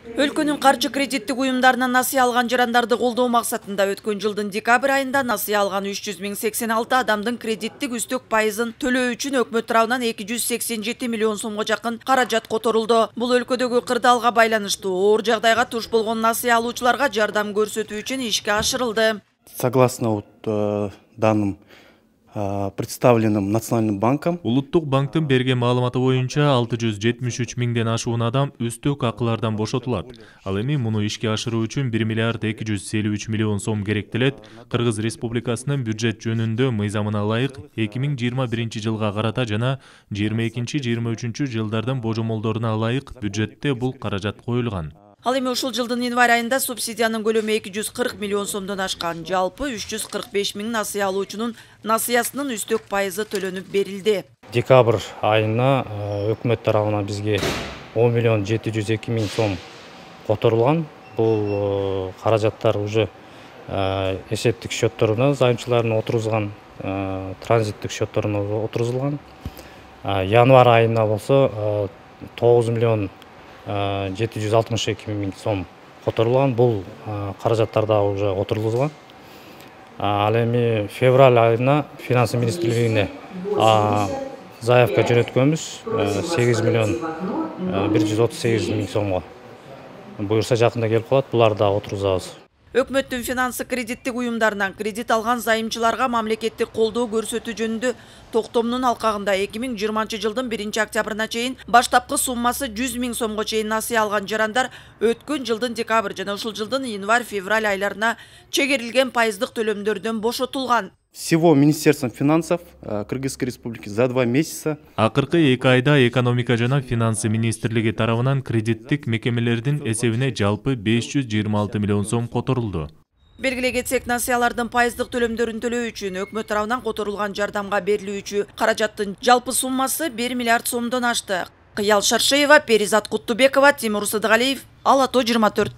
Өлкөнүн каржы кредиттик уюмдарынан насыя алган жарандарды колдоо максатында өткөн жылдын декабрь айында насыя алган 300.086 адамдын кредиттик үстөк пайызын төлөө үчүн өкмөт тарабынан 287 миллион сомго жакын каражат которулду. Бул өлкөдөгү кырдаалга байланыштуу оор жагдайга туш болгон насыя алуучуларга жардам көрсөтүү үчүн ишке ашырылды. Согласно данным, представленным Национальным банком, Улуттук банктын берген маалыматы боюнча 673 миңден ашуун адам үстөк акылардан бошотулат. Ал эми муну ишке ашыруу үчүн 1 миллиард 253 миллион сом керектелет. Кыргыз Республикасынын бюджет жөнүндө мыйзамына ылайык 2021 жылга карата жана 22-23 жылдардын божомолдоруна ылайык бюджетте бул каражат коюлган. Ал эми ушул жылдын январь айында субсидиянын көлөмү 240 миллион сомдон ашкан. Жалпы 345 миң насыя алуучунун насыясынын үстөк пайызы төлөнүп берилди. Декабрь айына өкмөт тарабынан бизге 10 миллион 702 миң сом которулган. Бул каражаттар уже эсептик счетторуна займчылардын отургузган, транзиттик счетторуна отургузулган. Январь айына болсо 9 миллион 762 миң сом которулган. Бул каражаттар да уже отургузулган. Ал эми февраль айына финансы министрлигине заявка жөнөткөнбүз 8 миллион 138 миң сомго. Буюрса жакында келип калат, буларды да отургузабыз. Өкмөттүн финансы кредиттик уюмдарынан кредит алган зайымчыларга мамлекеттик колдоо көрсөтүү жөнүндө токтомдун алкагында 2020 жылдын 1 октябрына чейин баштапкы суммасы 100 миң сомго чейин насыя алган жарандар өткөн жылдын декабрь жана ушул жылдын январь-февраль айларына чегерилген пайыздык төлөмдөрдөн бошотулган. Всего Министерством финансов Кыргызской Республики за 2 месяца Акыркы 2 айда экономика жана финансы министрлиги тарабынан кредиттик мекемелердин эсебине жалпы 526 миллион сом которулду. Белгилей кетсек, насыялардын пайыздык төлөмдөрүн төлөө үчүн өкмөт тарабынан которулган жардамга берилүүчү каражаттын жалпы суммасы 1 миллиард сомдон ашты. Кыял Шаршеева, Перизат Куттубекова, Тимур Сыдыгалиев, Ала То 24.